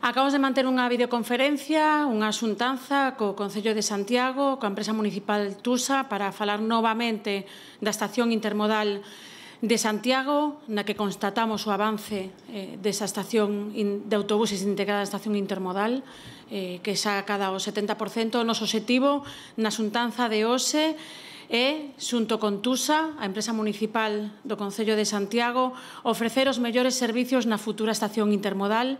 Acabamos de manter unha videoconferencia, unha xuntanza co Concello de Santiago, coa empresa municipal Tusa, para falar novamente da estación intermodal de Santiago, na que constatamos o avance desa estación de autobuses integrada na estación intermodal, que xa acada o 70%. O noso obxectivo na xuntanza de hoxe é, xunto con Tusa, a empresa municipal do Concello de Santiago, ofrecer os mellores servicios na futura estación intermodal.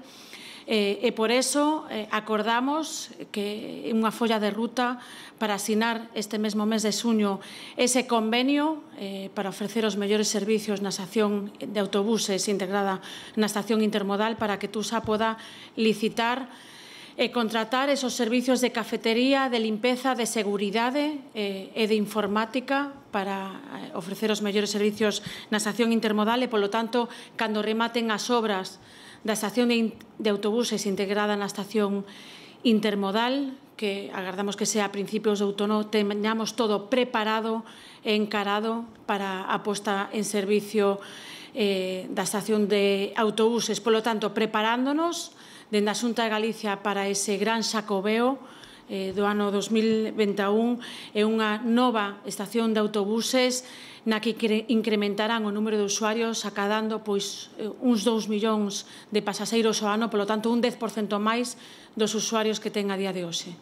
E por eso acordamos que unha folla de ruta para asinar este mesmo mes de xuño ese convenio para ofrecer os mellores servicios na estación de autobuses integrada na estación intermodal, para que Tusa poda licitar e contratar esos servicios de cafetería, de limpeza, de seguridade e de informática para ofrecer os mellores servicios na estación intermodal e, polo tanto, cando rematen as obras da estación de autobuses integrada na estación intermodal, que agardamos que sea a principios de outono, teñamos todo preparado e encarado para a posta en servicio da estación de autobuses. Polo tanto, preparándonos dende a Xunta de Galicia para ese gran xacobeo do ano 2021 e unha nova estación de autobuses na que incrementarán o número de usuarios, acadando uns 2 millóns de pasaxeiros ao ano, polo tanto un 10% máis dos usuarios que ten a día de hoxe.